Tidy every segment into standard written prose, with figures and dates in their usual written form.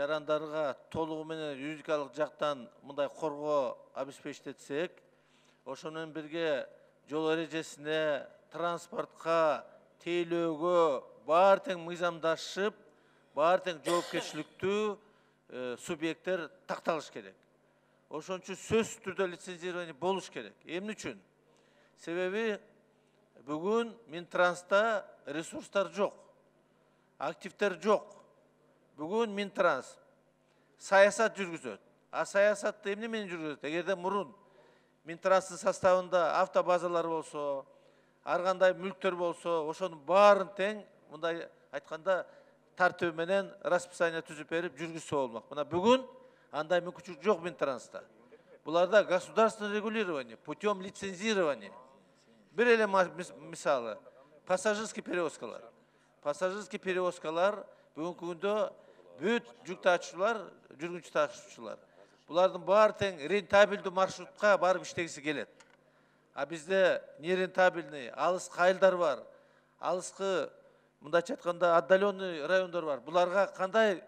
жарандарга толугу менен юридикалык жактан мындай коргоо обеспечитсек, ошону менен бирге жол эрежесине, транспортко, тейлөөгө баары тең мыйзамдашып, баары тең жоопкерчиликтүү субъекттер такталыш керек. Ошон үчүн сөзсүз түрдө лицензирование болуш керек. Эмне үчүн? Себеби бүгүн Минтранста ресурстар жок, активдер жок. Бүгүн Минтранс саясат жүргүзөт. А саясатты эмне менен жүргүзөт? Эгерде мурун Минтранстын составында автобазалар болсо, ар кандай мүлктөр болсо, ошонун баарын тең мындай айтканда тартиби менен расписание түзүп берип жүргүзсө болмок. Мына бүгүн андай мүмкүнчүлүк жок Минтранста. Буларда государственное регулирование путем лицензирования. Бир эле мисалы пассажирский перевозкалар. Пассажирский перевозкалар бүгүнкү күндө бүт жүк ташуучулар, жүргүнчү ташуучулар. Булардын баары тең рентабелдүү маршрутка барып иштегиси келет. А бизде нерентабельный, алыс кайылдар бар. Алыскы, мындайча айтканда, отдаленный райондор бар. Буларга кандай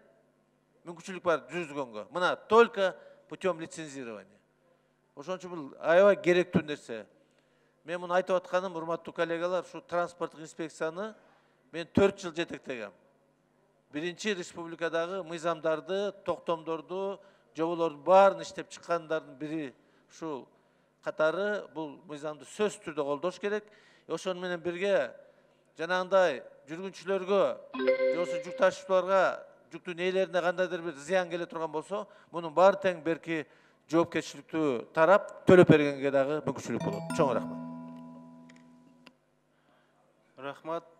мүмкүнчүлүк бар жүргүзгөнгө? Мына только путем лицензирования. Ошон үчүн бул аябай керектүү нерсе. Мен муну айтып атканым, урматтуу коллегалар, ушу транспорттук инспекцияны мен 4 жыл жетектегем. Биринчи республикадагы мыйзамдарды, токтомдорду, жоболордун баарын иштеп чыккандардын бири ушул катары бул мыйзамды сөзсүз түрдө колдош керек. Ошону менен бирге жанагындай жүргүнчүлөргө, жосу жүк ташуучуларга, жүктүн ээлерине кандайдыр бир зыян келе турган болсо, мунун баары тең берки жоопкерчиликтүү тарап төлөп бергенге дагы мүмкүнчүлүк болот. Чоң рахмат. Рахмат.